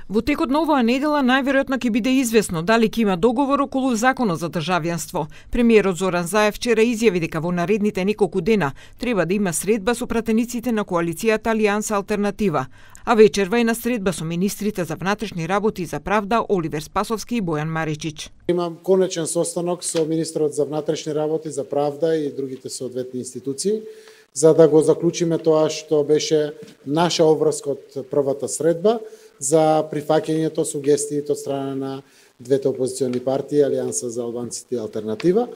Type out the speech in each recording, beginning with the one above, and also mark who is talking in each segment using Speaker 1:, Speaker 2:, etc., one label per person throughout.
Speaker 1: Во текот на оваа недела најверојатно ќе биде известно дали ќе има договор околу законот за државјанство. Премиерот Зоран Заев вчера изјави дека во наредните неколку дена треба да има средба со пратениците на коалицијата Алијанса Алтернатива, а вечерва и на средба со министрите за внатрешни работи и за правда Оливер Спасовски и Бојан Маричич.
Speaker 2: Имам конечен состанок со министрот за внатрешни работи, за правда и другите соодветни институции, за да го заклучиме тоа што беше наша обврска од првата средба за прифаќањето сугестиите од страна на двете опозициони партии, Алијанса за албанците и Алтернатива,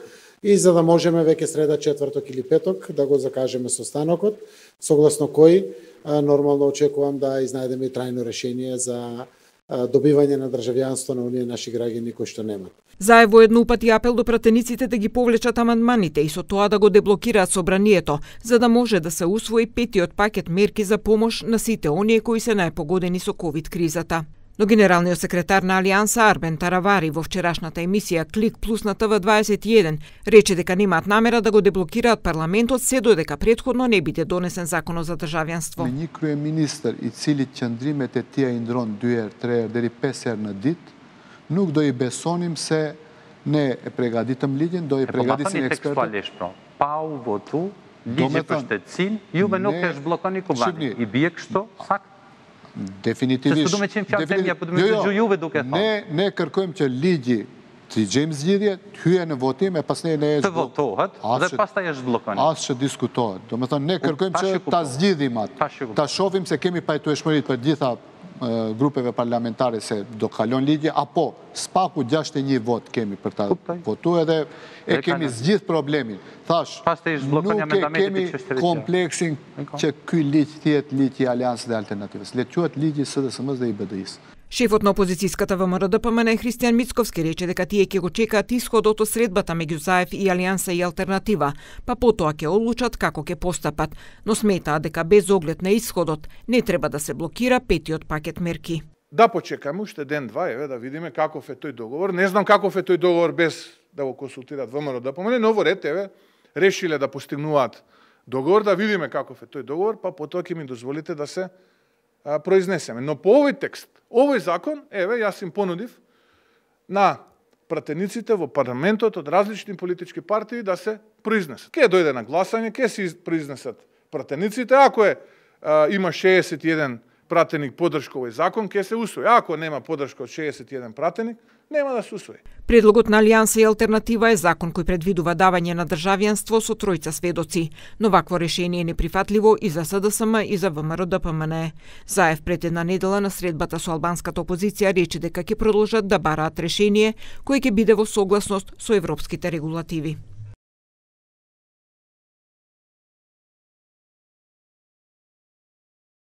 Speaker 2: и за да можеме веќе среда, четврток или петок да го закажеме состанокот, согласно кој нормално очекувам да изнајдеме и трајно решение за добивање на државјанство на оние наши граѓани кои што немат.
Speaker 1: Заев во едноупати апел до пратениците да ги повлечат амандманите и со тоа да го деблокираат собранието, за да може да се усвои петиот пакет мерки за помош на сите оние кои се најпогодени со ковид кризата. Но генералниот секретар на Алијанса Арбен Таравари во вчерашната емисија Клик Плюс на ТВ21 рече дека немаат намера да го деблокираат парламентот се додека претходно не биде донесен законот за државјанство.
Speaker 3: Me një kryeministër i cili qëndrimet e tij i ndron 2 herë, 3 herë deri 5 herë në ditë, nuk do I besonim se ne e pregaditëm ligjin, do I pregaditëm ekspertët.
Speaker 4: Pa u votu ligji për shtetësinë, juve nuk e zhbllokoni Kuvani. I bie kështu sakt?
Speaker 3: Definitivisht. Ne kërkojmë që ligji të gjejmë zgjidhje, të hyjë në votim e pastaj ne
Speaker 4: të votohet dhe pastaj e zhbllokoni.
Speaker 3: As që diskutohet. Domethënë ne kërkojmë që ta zgjidhim atë. Ta shohim se kemi pajtueshmëri për gjitha grupeve parlamentare se do kalon ligje, apo spaku 61 vot kemi për ta votu edhe e kemi zgjidh problemin. Thash, nuk e kemi kompleksin që ky ligj tjetë ligj I Aliansës dhe Alternativës. Le quhet ligji SDSM-s dhe I BDI-s.
Speaker 1: Шефот на опозицијската ВМРО-ДПМН Христијан Мицковски рече дека тие ќе го чекаат исходот од средбата меѓу Заев и Алијанса и Алтернатива, па потоа ќе одлучат како ќе постапат, но сметаат дека без оглед на исходот не треба да се блокира петиот пакет мерки.
Speaker 5: Да почекаме уште ден-два, еве да видиме каков е тој договор. Не знам каков е тој договор без да го консултираат ВМРО-ДПМН, но во ред еве решиле да постигнуваат договор, да видиме каков е тој договор, па потоа ќе ми дозволите да се произнесеме. Но по овој текст, овој закон, еве, јас им понудив на пратениците во парламентот од различни политички партии да се произнесат. Ке дојде на гласање, ке се произнесат пратениците, ако има 61 пратеник поддршка овој закон, ке се усвои. Ако нема поддршка од 61 пратеник, нема да се усвои.
Speaker 1: Предлогот на Алијанса и Алтернатива е закон кој предвидува давање на државјанство со тројца сведоци, но вакво решение е неприфатливо и за СДСМ и за ВМРО-ДПМН. Заев пред една недела на средбата со албанската опозиција рече дека ќе продолжат да бараат решение кој ќе биде во согласност со европските регулативи.